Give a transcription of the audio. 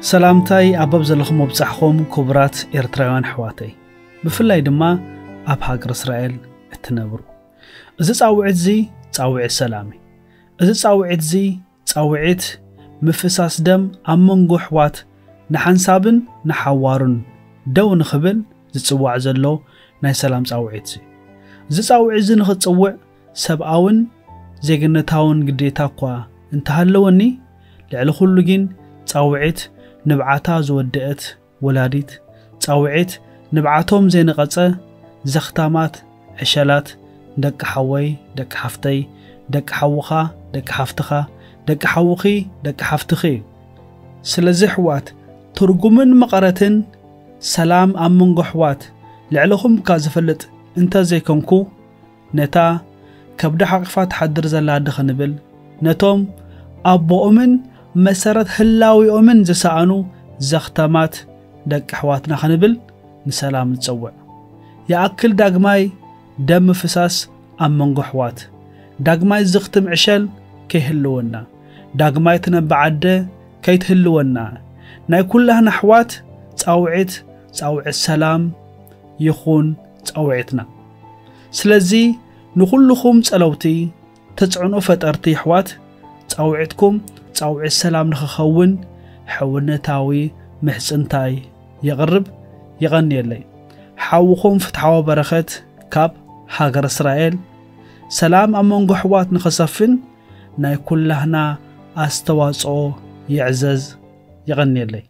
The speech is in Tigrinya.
ሰላምታይ ኣብ በብ ዘለኹም ኣብጻሕኹም ክቡራት ኤርትራውያን ኣሕዋተይ፣ ብፍላይ ድማ ኣብ ሃገር እስራኤል እትነብሩ። እዚ ጻውዒት እዚ ጻውዒት ሰላም እዩ። እዚ ጻውዒት እዚ ጻውዒት ምፍሳስ ደም ኣብ መንጎ ኣሕዋት ንሓንሳብን ንሓዋሩን ደው ንኽብል ዝጽዋዕ ዘሎ ናይ ሰላም ጻውዒት እዩ። እዚ ጻውዒት እዚ ንኽጽውዕ ሰብኣውን ዜግነታውን ግዴታ እኳ እንተሃለወኒ፣ ልዕሊ ኩሉ ግን ጻውዒት ንብዓታ ዝወደአት ወላዲት፣ ጻውዒት ንብዓቶም ዘይነቐጸ ዘኽታማት ዕሸላት፣ ደቂ ሓወይ፣ ደቂ ሓፍተይ፣ ደቂ ሓውኻ፣ ደቂ ሓፍትኻ፣ ደቂ ሓውኺ፣ ደቂ ሓፍትኺ እዩ። ስለዚ ኣሕዋት፣ ትርጉምን መቐረትን ሰላም ኣብ መንጎ ኣሕዋት ልዕለኹም እካ ዝፈልጥ እንተ ዘይኮንኩ፣ ነታ ከብዳ ሓቒፋ ትሓድር ዘላ ኣደ ኽንብል፣ ነቶም ኣቦኦምን መሰረት ህላዌኦምን ዝሰኣኑ ዘኽተማት ደቂ ኣሕዋትና ኽንብል ንሰላም ንጸውዕ። ይኣክል ዳግማይ ደም ምፍሳስ ኣብ መንጎ ኣሕዋት፣ ዳግማይ ዝኽትም ዕሸል ከይህልወና፣ ዳግማይ ትነብዕ ኣደ ከይትህልወና፣ ናይ ኩላህና ኣሕዋት ጻውዒት፣ ጻውዒት ሰላም ይኹን ጻውዒትና። ስለዚ ንኹልኹም ጸለውቲ፣ ተጽዕኖ ፈጠርቲ ኣሕዋት፣ ጻውዒትኩም ጻውዒት ሰላም ንኽኸውን ሕውነታዊ ምሕጽንታይ የቕርብ። የቐንየለይ። ሓውኹም ፍትሓዊ በረኸት ካብ ሃገር እስራኤል። ሰላም ኣብ መንጎ ኣሕዋት ንኽሰፍን ናይ ኩላህና ኣስተዋጽኦ ይዕዘዝ። የቐንየለይ።